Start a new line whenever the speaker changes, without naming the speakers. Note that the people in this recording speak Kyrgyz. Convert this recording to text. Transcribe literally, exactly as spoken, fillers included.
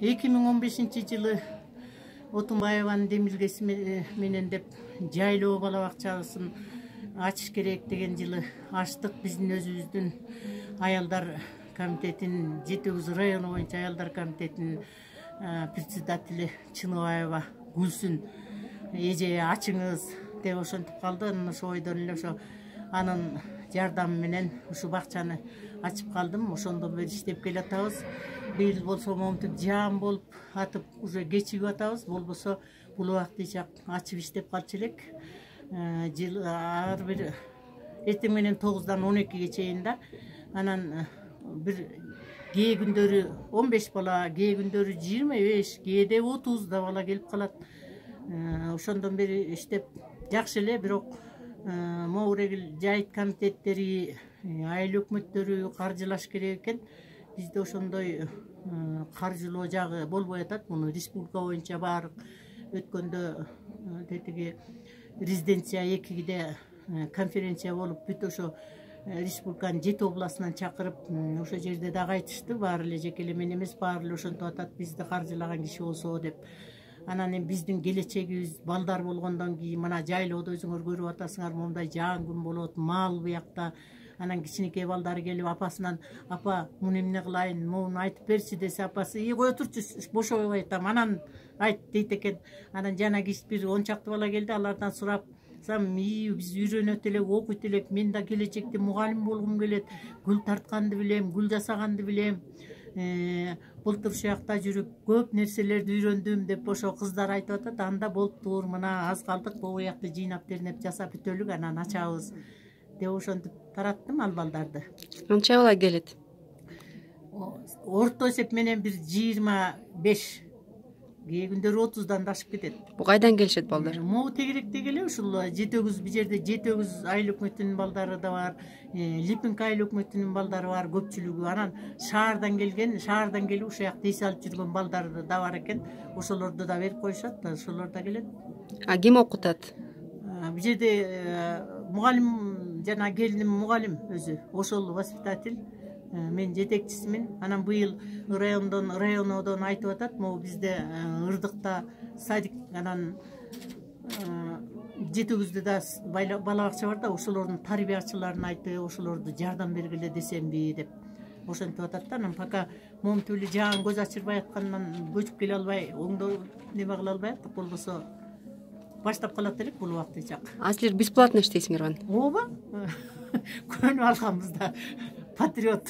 эки миң он бешинчи жылы Отунбаеванын демилгеси менен деп жайлоо бала бакчасын ачыш керек деген жылы ачтык. Биздин өзүбүздүн аялдар комитетинин жети тогуз району боюнча аялдар комитетинин председатели Чыныбаева Гүлсүн эже ачыңыз деп ошентип калды. Анан ошо ойдон эле ошо анын жардамы менен ушу бакчаны ачып калдым. Ошондон бери иштеп келатабыз. Быйыл болсо момтип жаам болуп атып уже кечигип атабыз. Болбосо бул убактыйча ачып иштеп калчу элек. Жыл ар бир эртең менен тогуздан он экиге чейин да. Анан бир кээ күндөрү он беш бала, кээ күндөрү жыйырма беш, кээде отуз да бала келип калат. Ошондон бери иштеп жакшы эле, бирок могу регил жайыт комитеттери, айыл өкмөттөрү каржылаш керек экен. Бизде ошондой каржылоо жагы болбой атат. Муну республика боюнча баардык өткөндө тетиги резиденция экиде конференция болуп бүт ошо республиканын жети областынан чакырып ошол жерде дагы айтышты. Баары эле жеке эле мен эмес, баары эле ошентип атат, бизди каржылаган киши болсо деп. Анан эми биздин келечегибиз балдар болгондон кийин мына жайлоодо өзүңөр көрүп атасыңар, момундай жаан күн болот, мал буякта. Анан кичинекей балдары келип апасынан апа муну эмне кылайын, муну айтып берчи десе, апасы и кое турчу бошобой айтам, анан айт дейт экен. Анан жана кич бир он чакты бала келди, алардан сурап и биз үйрөнөт элек, окуйт элек, мен да келечекте мугалим болгум келет, гүл тартканды билем, гүл жасаганды билем, былтыр ушул жакта жүрүп көп нерселерди үйрөндүм деп ошо кыздар айтып атат. Анда болуптур, мына аз калдык, бул буякты жыйнап тернеп жасап бүтөлүк, анан ачабыз деп ошентип тараттым ал балдарды.
Канча бала келет?
Орто эсеп менен бир жыйырма беш, кээ күндөрү отуздан да ашып кетет.
Бу кайдан келишет балдар?
Могу тегеректеги эле ушул жети тогуз, бул жерде жети тогуз айыл өкмөтүнүн балдары да бар, Липинка айыл өкмөтүнүн балдары бар көпчүлүгү. Анан шаардан келген, шаардан келип ушул жакта эс алып жүргөн балдар да бар экен. Ошолорду да берип коюшат, ошолор да келет.
А ким окутат?
Бул жерде мугалим, жана келиним мугалим өзү, ошол воспитатель. Мен жетекчисимин. Анан быйыл райондон, районодон айтып атат, могу бизде Ырдыкта садик, анан жети тогузда да бала бакча бар да, ошолордун тарбиячыларын айтып, ошолорду жардам бергиле десемби деп ошентип атат да. Анан пока момтип эле жаан көз ачырбай аткандан көчүп келе албай, оңдоо неме кыла албай аттык, болбосо баштап калат элек бул убактыйча.
А силер бесплатно иштейсиңерби?
Ооба. Көнүп алганбыз да. Патриот.